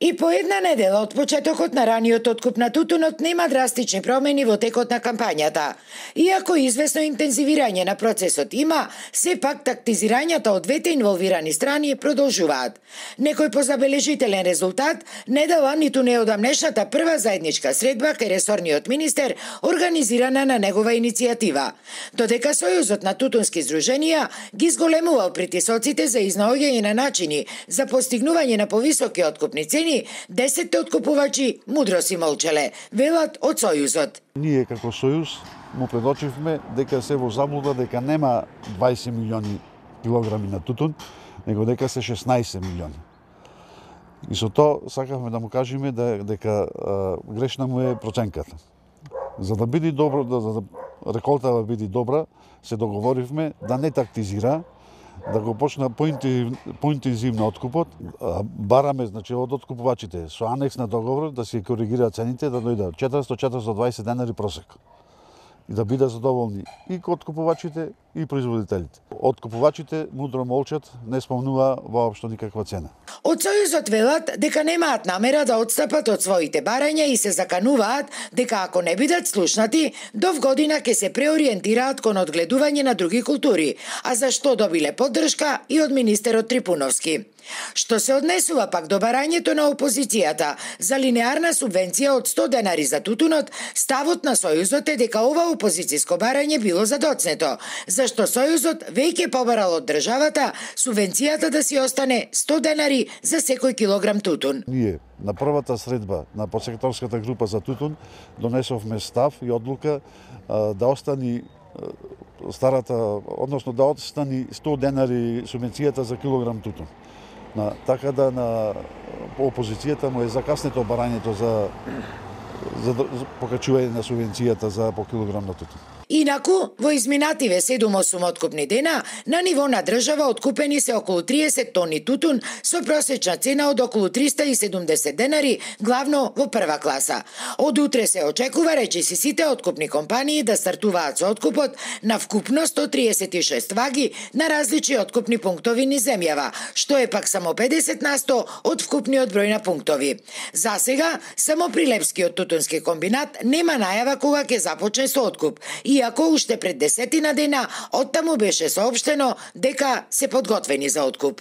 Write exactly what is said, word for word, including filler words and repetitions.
И по една недела од почетокот на раниот откуп на тутунот нема драстични промени во текот на кампањата. Иако известно интензивирање на процесот има, сепак тактизирањата од двете инволвирани страни продолжуваат. Некој позабележителен резултат не дала ниту неодамнешната прва заедничка средба кај ресорниот министер, организирана на негова иницијатива. Додека Сојузот на тутунски здруженија ги зголемувал притисоците за изнаоѓање на начини за постигнување на повисоки откупни цени, десетте откупувачи мудро си молчеле, велат од Сојузот. Ние како Сојуз му предочивме дека се во заблуда дека нема дваесет милиони килограми на тутун, него дека се шеснаесет милиони. И со тоа сакавме да му кажеме да, дека а, грешна му е проценката. За да биде добро, да, за да реколтава биде добра, се договоривме да не тактизира, да го почна поинтензивно откупот. Бараме, значи, од откупувачите со анекс на договор да се коригираат цените, да дојдат четириста до четириста и дваесет денари просек. И да бидат задоволни и откупувачите и производителите. Откупувачите мудро молчат, не спомнува воопшто никаква цена. Од Сојузот велат дека немаат намера да отстапат од своите барања и се закануваат дека ако не бидат слушнати, до вгодина ќе се преориентираат кон одгледување на други култури, а за што добиле поддршка и од министерот Трипуновски. Што се однесува пак до барањето на опозицијата за линеарна субвенција од сто денари за тутунот, ставот на Сојузот е дека ова опозицијско барање било задоцнето, зашто Сојузот веќе побарал од државата субвенцијата да си остане сто денари за секој килограм тутун. Ние на првата средба на подсекторската група за тутун донесовме став и одлука а, да остани а, старата, односно да остани сто денари субвенцијата за килограм тутун. На, така да на опозицијата му е закаснето барањето за, за, за покачување на субвенцијата за по килограм на тутун. Инаку, во изминативе седум-осум откупни дена, на ниво на држава откупени се околу триесет тони тутун со просечна цена од околу триста и седумдесет денари, главно во прва класа. Од утре се очекува речиси сите откупни компании да стартуваат со откупот на вкупно сто триесет и шест ваги на различни откупни пунктови низ земјава, што е пак само педесет на сто од вкупниот број на пунктови. За сега, само Прилепскиот тутунски комбинат нема најава кога ќе започне со откуп, иако уште пред десетина дена оттаму беше соопштено дека се подготвени за откуп.